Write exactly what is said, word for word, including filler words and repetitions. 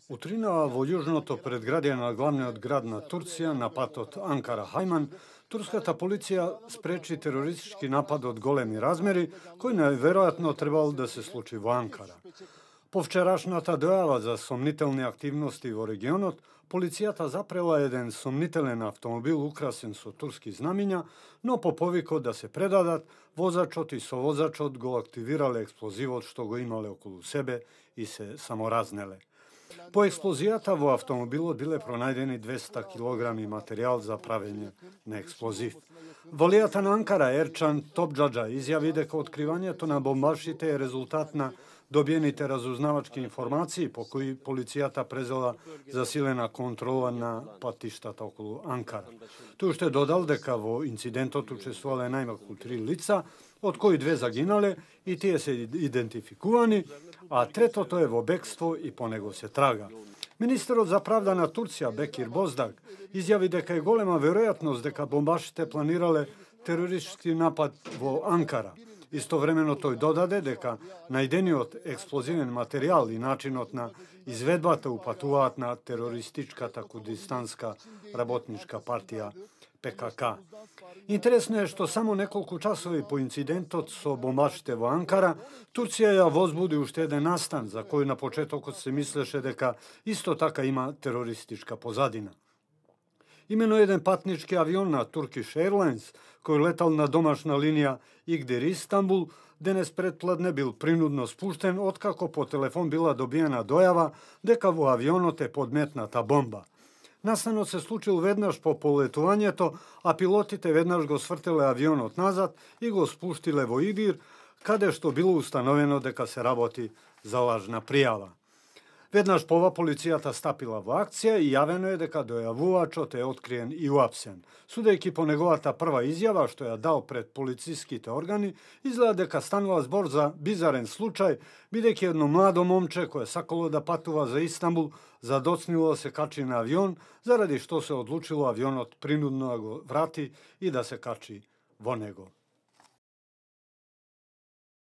Утринава во јужното предградие на главниот град на Турција, на патот Анкара-Хајман, турската полиција спречи терористички напад од големи размери, кој најверојатно требал да се случи во Анкара. По вчерашната дојава за сомнителни активности во регионот, полицијата запрела еден сомнителен автомобил украсен со турски знамиња, но по повикот да се предадат, возачот и совозачот го активирале експлозивот што го имале околу себе и се саморазнеле. По експлозијата во автомобилот биле пронајдени двесте килограми материјал за правење на експлозив. Валијата на Анкара Ерчан Топџаџа изјави дека откривањето на бомбашите е резултат на добиените разузнавачки информации по кои полицијата презела засилена контрола на патиштата околу Анкара. Тој уште додал дека во инцидентот учествувале најмалку три лица, од кои две загинале и тие се идентификувани, а третото е во бегство и по него се трага. Министерот за правда на Турција Бекир Боздаг изјави дека е голема веројатност дека бомбашите планирале терористички напад во Анкара. Истовремено тој додаде дека најдениот експлозивен материјал и начинот на изведбата упатуваат на терористичката курдистанска работничка партија Пе Ка Ка. Интересно е што само неколку часови по инцидентот со бомбашите во Анкара, Турција ја возбуди уште еден настан за кој на почетокот се мислеше дека исто така има терористичка позадина. Имено еден патнички авион на Turkish Airlines, кој летал на домашна линија Игдир Истанбул, денес предпладне бил принудно спуштен откако по телефон била добиена дојава дека во авионот е подметната бомба. Настанот се случил веднаш по полетувањето, а пилотите веднаш го свртеле авионот назад и го спуштиле во Игдир, каде што било установено дека се работи за лажна пријава. Веднаш пова полицијата стапила во акција и јавено е дека дојавувачот е откриен и уапсен. Судејќи по неговата прва изјава што ја дал пред полициските органи, изгледа дека станува збор за бизарен случај, бидејќи едно младо момче кое сакало да патува за Истанбул задоцнило да се качи на авион, заради што се одлучило авионот принудно да го врати и да се качи во него.